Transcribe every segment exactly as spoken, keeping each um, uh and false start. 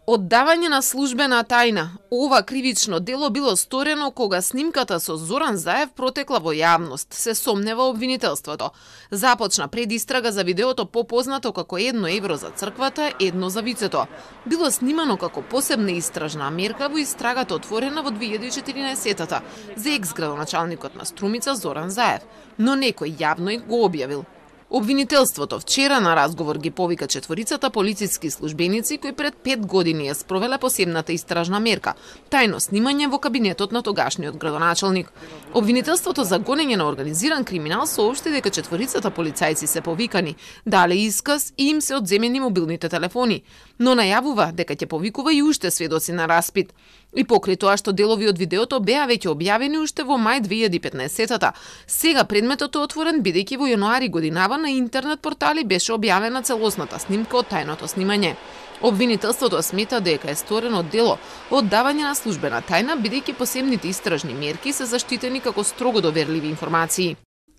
Оддавање на службена тајна. Ова кривично дело било сторено кога снимката со Зоран Заев протекла во јавност, се сомнева обвинителството. Започна предистрага за видеото попознато како едно евро за црквата, едно за вицето. Било снимано како посебна истражна мерка во истрагата отворена во две илјади и четиринаесетта за екс-градоначалникот на Струмица Зоран Заев, но некој јавно го објавил. Обвинителството вчера на разговор ги повика четворицата полициски службеници кои пред пет години ја спровеле посебната истражна мерка, тајно снимање во кабинетот на тогашниот градоначалник. Обвинителството за гонење на организиран криминал соопшти дека четворицата полицајци се повикани, дале исказ и им се одземени мобилните телефони, но најавува дека ќе повикува и уште сведоци на распит. И покрај тоа што делови од видеото беа веќе објавени уште во мај две илјади и петнаесетта, сега предметот е отворен бидејќи во јануари годинава на интернет портали беше објавена целосната снимка од тајното снимање. Обвинителството смета дека е сторено дело оддавање на службена тајна бидејќи посебните истражни мерки се заштитени како строго доверливи информации.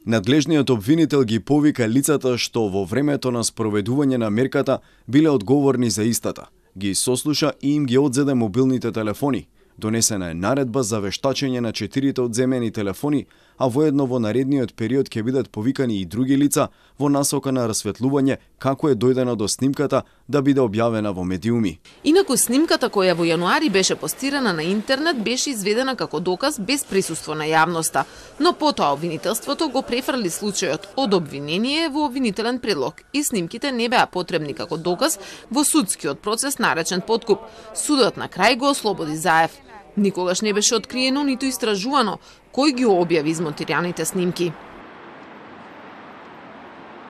Надлежниот обвинител ги повика лицата што во времето на спроведување на мерката биле одговорни за истата. Ги сослуша и им ги одзеде мобилните телефони. Донесена е наредба за вештачење на четирите одземени телефони, а воедно во наредниот период ќе бидат повикани и други лица во насока на расветлување како е дојдено до снимката да биде објавена во медиуми. Инаку снимката која во јануари беше постирана на интернет беше изведена како доказ без присуство на јавноста, но потоа обвинителството го префрли случајот од обвинение во обвинителен предлог и снимките не беа потребни како доказ во судскиот процес наречен подкуп. Судот на крај го ослободи Заев. Никогаш не беше откриено ниту истражувано кој ги објави измонтираните снимки.